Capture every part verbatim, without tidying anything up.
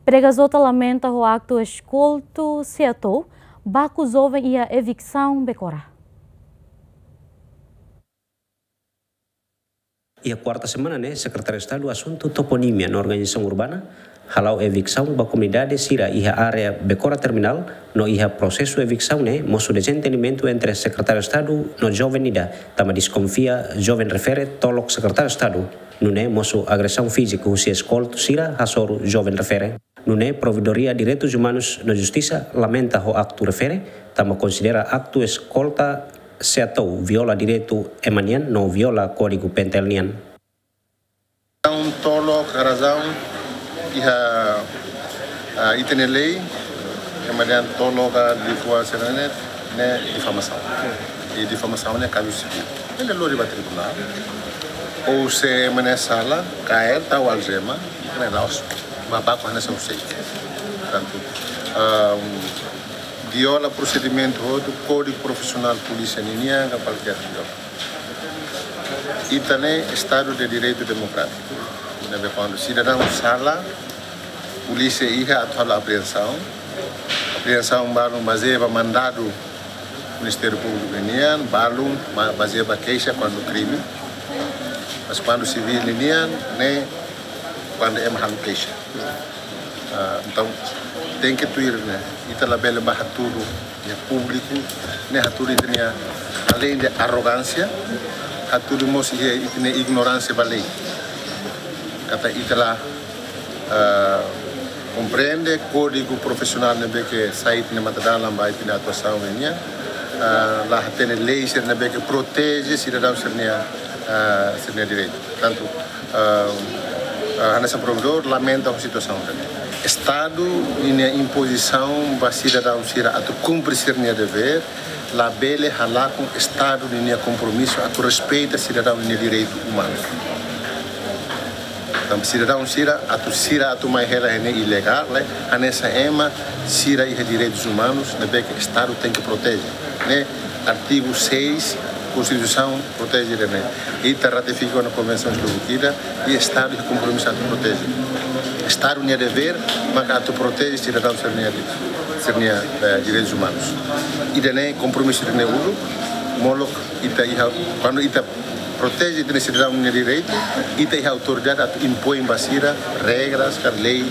Pregazota lamenta ho aktu eskoltu Seatou baku joven iha eviksaun Bekora. Iha kuarta semana ne'e, Sekretáriu Estadu Asuntu Toponímia no Organizasaun Urbana hala'o eviksaun ba komunidade sira iha área Bekora Terminál, no iha prosesu eviksaun ne'e mosu dezentendimentu entre Sekretáriu Estadu no joven ida, tanba deskonfia joven refere tolok Sekretáriu Estadu. Nune'e mosu agresaun fíziku husi eskoltu sira hasoru joven refere. Nune'e Provedoria Direitus Umanus no Justisa lamenta ho aktu refere, tanba konsidera aktu eskoltu Seatou viola direitu ema nian no viola Kódigu PNTL nian. Razaun tolok, razaun iha, ah, ita-nia lei, ema dehan tolok ka liafuan sira-ne'e, ne'e difamasaun. I difamasaun ne'e kazu sivíl. Bele lori ba tribunál. Ou se ema ne'e sala, kaer, tau aljema, ne'e la'ós. Ba baku hanesan ha'u sei. Portantu, ah, viola prosedimentu hotu, kódigu profisionál polísia ninian, ka kualkér viola. Ita ne'e Estadu de Direitu Demokrátiku. Ne'ebé kuandu sidadaun sala, polísia iha atu halo apreensaun. Apreensaun balun bazeia ba mandadu Ministériu Públiku nian, balun ma-, bazeia ba keixa kuandu krime. Mas kuandu sivíl nian, ne'e kuandu ema halo keixa. Ah, entaun, tenke tuir ne'e, ita labele ba hatudu iha públiku, ne'e hatudu ita-nia, além de arrogância, hatudu mós iha ita-nia ignoránsia ba lei. Katak ita la, ah, komprende kódigu profisionál ne'ebé ke sai ita-nia matadalan ba ita-nia atuasaun nian, ah, la hatene lei sira ne'ebé ke proteje sidadaun sira-nia, ah, sira-nia direitu. Portantu, ah, ah, hanesan Provedór lamenta ho situasaun ida-ne'e. Estadu ninia impozisaun ba sidadaun sira atu kumpre sira-nia devér, labele halakon Estadu ninia kompromisu atu respeita sidadaun ninia direitu umanu. Tanba sidadaun sira atu, sira atu mai hela iha ne'e ilegál, ne'e, hanesan ema sira iha direitus umanus, ne'ebé ke Estadu tenke proteje. Ne'e artigu seis, Konstituisaun proteje ida-ne'e. Ita ratifika ona konvensaun sira hotu ida, i Estadu iha kompromisu atu proteje. Estadu nia devér maka atu proteje sidadaun sira-nia, sira-nia, eh, direitus umanus. Ida-ne'e kompromisu ida-ne'e uluk, molok ita iha, kuandu ita proteje ita-nia sidadaun nia direitu, ita iha autoridade atu impoin ba sira regras ka lei.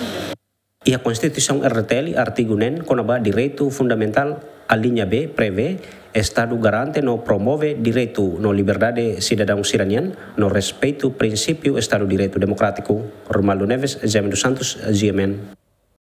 Iha Konstituisaun R D T L, artigu neen, kona-ba direitu fundamentál, aliña B, prevee, Estadu garante no promove direitu no liberdade sidadaun sira-nian, no respeitu prinsípiu Estadu Direitu Demokrátiku. Romualdo Neves, Jaime dos Santos, G M N.